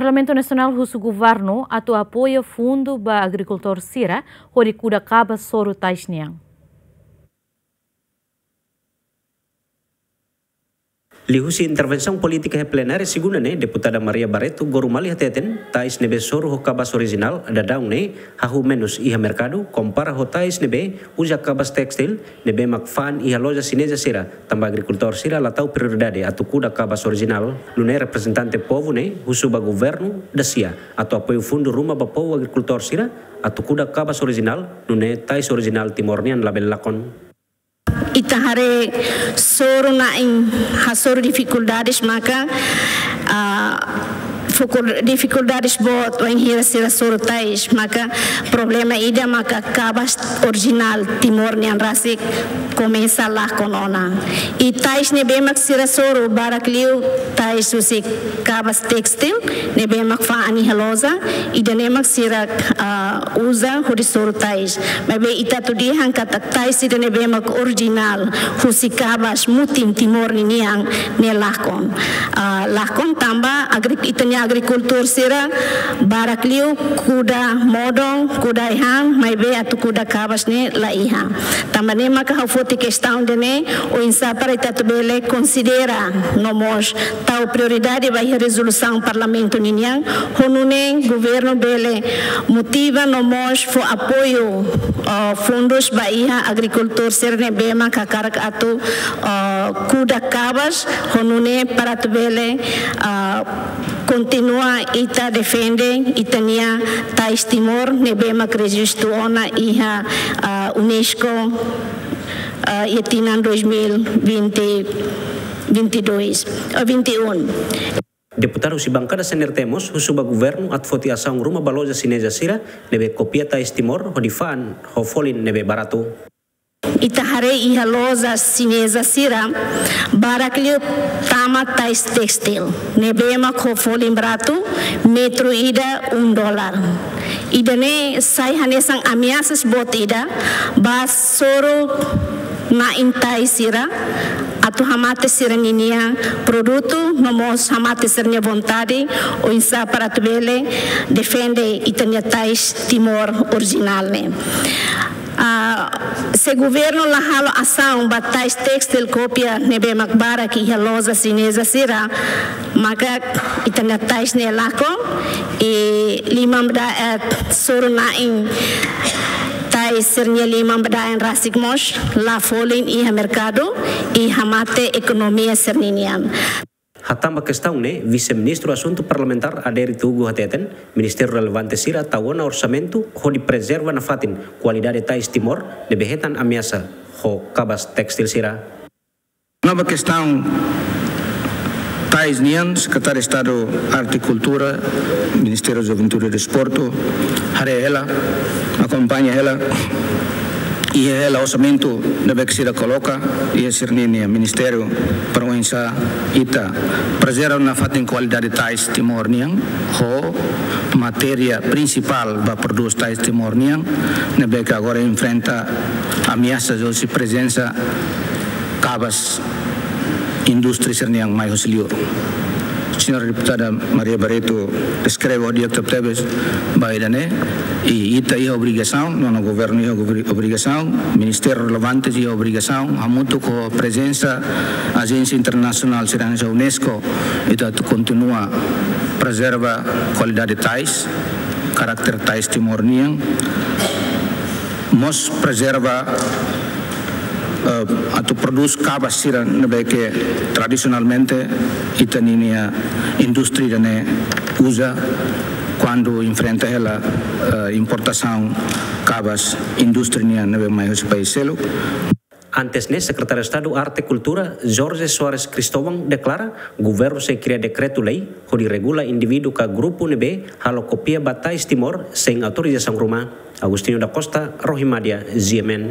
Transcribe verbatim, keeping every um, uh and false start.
Parlamentu Nasionál husu governu atu apoia fundu ba agrikultór sira hodi kuda kabas soru tais nian. Liuhusi intervensaun polítika iha plenária segunda ne'e, Deputada Maria Barreto Gorumali hateten, tais ne'ebé soru ho kabas orijinál daudaun ne'e hahú menus iha merkadu, kompara ho tais ne'ebé uza kabas tékstil ne'ebé mak fa'an iha loja xineza sira, tanba agrikultór sira la tau prioridade atu kuda kabas orijinál. Nune'e reprezentante povu ne'e husu ba governu dasia atu apoiu fundu ruma ba povu agrikultór sira atu kuda kabas orijinál, nune'e tais orijinál Timor nian labele lakon. Ita haree soru na'in hasoru difikuldades maka, ah, foku difikuldades boot wainhira sira soru tais, maka problema ida maka kabas orijinál Timor nian rasik komesa lakon ona. I tais ne'ebé mak sira soru barak liu tais husi kabas tékstil ne'ebé mak fa'an iha loja, ida-ne'e mak sira, ah, uza hodi soru tais. Maibé ita atu dehan katak tais ida ne'ebé mak orijinál husi kabas mutin Timor ninian ne'e lakon. Ah, lakon tanba agri-, ita-nia agrikultór sira barak liu kuda modon, kuda ai-han, maibé atu kuda kabas ne'e la iha. Tanba ne'e maka ha'u foti kestaun ida-ne'e, oinsá para ita atu bele konsidera no mós tau prioridade ba iha rezolusaun Parlamentu ninian, ho nune'e governu bele motiva no mós fó apoiu, ah, fundus ba iha agrikultór sira ne'ebé mak hakarak atu, ah, kuda kabas, ho nune'e para atu bele, ah, kontinua ita defende ita-nia tais Timor ne'ebé mak rejistu ona iha, ah, UNESCO, ah, iha tinan dois mil e vinte, vinte e dois, ah, vinte e um. Deputadu husi bankada C N R T mós husu ba governu atu foti asaun ruma ba loja xineza sira ne'ebé kopia tais Timor hodi fa'an ho folin ne'ebé baratu. Ita haree iha loja xineza sira barak liu tama tais tékstil ne'ebé mak ho folin baratu, metru ida um dólar. Ida-ne'e sai hanesan ameasas boot ida ba soru na'in tais sira atu hamate sira-ninia produtu, no mós hamate sira-nia vontade oinsá para atu bele defende ita-nia tais Timor orijinál ne'e. Ah, se governu la halo asaun ba tais tékstil kopia ne'ebé mak barak iha loja xineza sira, maka ita-nia tais ne'e lakon, i liman bada, eh, soru na'in tais sira-nia liman bada-an rasik mós la folin iha merkadu, i hamate ekonomia sira-ninian. Hatán ba kestaun ne'e, Vise-Ministru Asuntu Parlamentár Adérito Hugo hateten, ministériu relevante sira tau ona orsamentu hodi prezerva nafatin kualidade tais Timor ne'ebé hetan ameasa ho kabas tékstil sira. Kona-ba kestaun tais nian, Sekretáriu Estadu Arte i Kultura, Ministériu Juventude i Desportu, haree hela, akompaña hela, iha hela orsamentu ne'ebé ke sira koloka iha sira-ninia ministériu para oinsá ita prezerva nafatin kualidade tais Timor nian, ho matéria prinsipál ba prodús tais Timor nian, ne'ebé ke agora enfrenta ameasas husi prezensa kabas indústria sira-nian mai husi liur. Señora Deputada Maria Barreto deskreve ho di'ak tebetebes ba ida-ne'e, i ita iha obrigasaun, no, no governu iha obri-, obrigasaun, ministériu relevante iha obrigasaun, hamutuk ho prezensa ajénsia internasionál sira hanesan UNESCO, ita atu kontinua prezerva kualidade tais, karakter tais Timor nian, mós prezerva, eh, atu prodús kabas sira ne'ebé ke tradisionalmente ita-ninia indústria ne'e uza kuandu enfrenta hela, eh, importasaun kabas indústria nian ne'ebé mai husi país seluk. Antes ne'e, Sekretáriu Estadu Arte i Kultura, Jorge Soares Cristóvão, deklara governu sei kria dekretu-lei hodi regula indivíduu ka grupu ne'ebé halo kopia ba tais Timor sein autorizasaun ruma. Agostinho da Costa, Rohimadia, G M N.